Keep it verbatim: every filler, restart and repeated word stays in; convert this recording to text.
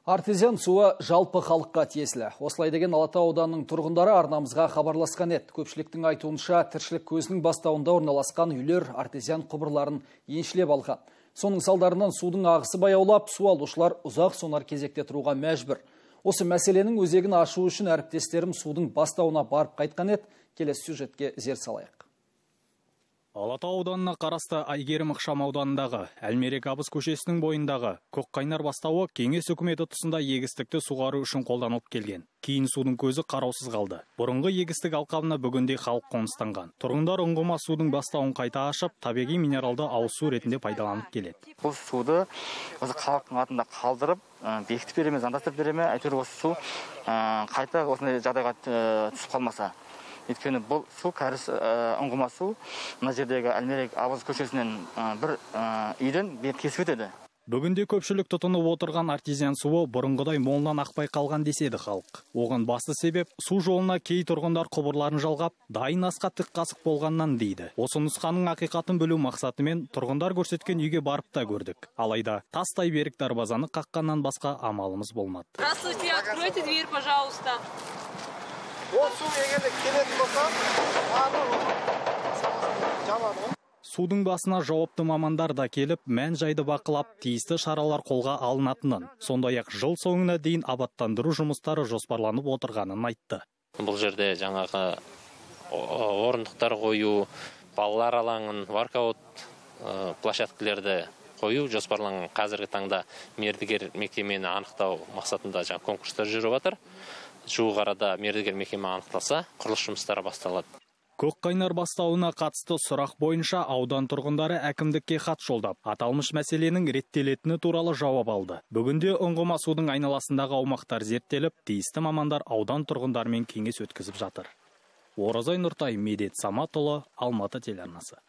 Артезиан суы жалпы халыққа тиесілі. Осылай деген Алатау ауданының тұрғындары арнамызға хабарласқан еді. Көпшіліктің айтуынша тіршілік көзінің бастауында орналасқан үйлер артезиан құбырларын еншілеп алған. Соның салдарынан судың ағысы баяулап, су алушылар ұзақ сонар кезекте тұруға мәжбүр. Осы мәселенің өзегін ашу үшін әріптестерім судың бастауына барып қайтқан еді. Келесі сюжетке зер салайық. Алатау ауданына қарасты Айгерім ықшам ауданындағы Әлмерек Абыз көшесінің бойындағы Көкқайнар бастауы кеңес үкіметі тұсында егістікті суғару үшін қолданылып келген. Кейін судың көзі қараусыз қалды. Бұрынғы егістік алқабына бүгінде халық қоныстанған. Тұрғындар ұңғыма судың бастауын қайта ашып, табиғи минералды ауыз су ретінде пайдаланып келеді. Бұл суды осы халықтың атында қалдырып, бекітіп береме, заңдастырып береме, әйтеуір осы су қайта осындай жағдайға түсіп қалмаса. Өйткені бұл су кәріс ұңғыма су мына жердегі Әлмерек Абыз көшесінен бір үйден бет кесіп өтеді. Бүгінде көпшілік тұтынып отырған артезиан суы бұрынғыдай молынан ақпай қалған деседі халық. Оған басты себеп су жолына кей тұрғындар құбырларын жалғап, дайын асқа тік қасық болғаннан дейді. Осы нұсқаның ақиқатын білу мақсатымен тұрғындар көрсеткен үйге барып та көрдік. Алайда тастай берік дарбазаны қаққаннан басқа амалымыз болмады. Здравствуйте, откройте дверь, пожалуйста. Ол су егерде келетін болса, жабады. Судың басына жауапты мамандар да келіп, мән жайды бақылап, тиісті шаралар қолға алынатынын, сондай-ақ жыл соңына дейін абаттандыру жұмыстары жоспарланып отырғанын айтты. Бұл жерде жаңағы орындықтар қою, балалар алаңын, воркаут площадкалерді қою жоспарланған. Қазіргі таңда мердігер мекемені анықтау мақсатында жаңа конкурстар жүріп жатыр. Жуық арада мердігер мекеме анықталса, құрылыс жұмыстары басталады. Көкқайнар бастауына қатысты сұрақ бойынша аудан тұрғындары әкімдікке хат жолдап, аталмыш мәселенің реттелетіні туралы жауап алды. Бүгінде ұңғыма судың айналасындағы аумақтар зерттеліп, тиісті мамандар аудан тұрғындарымен кеңес өткізіп жатыр. Оразай Нұртай, Медет Саматұлы, Алматы телеарнасы.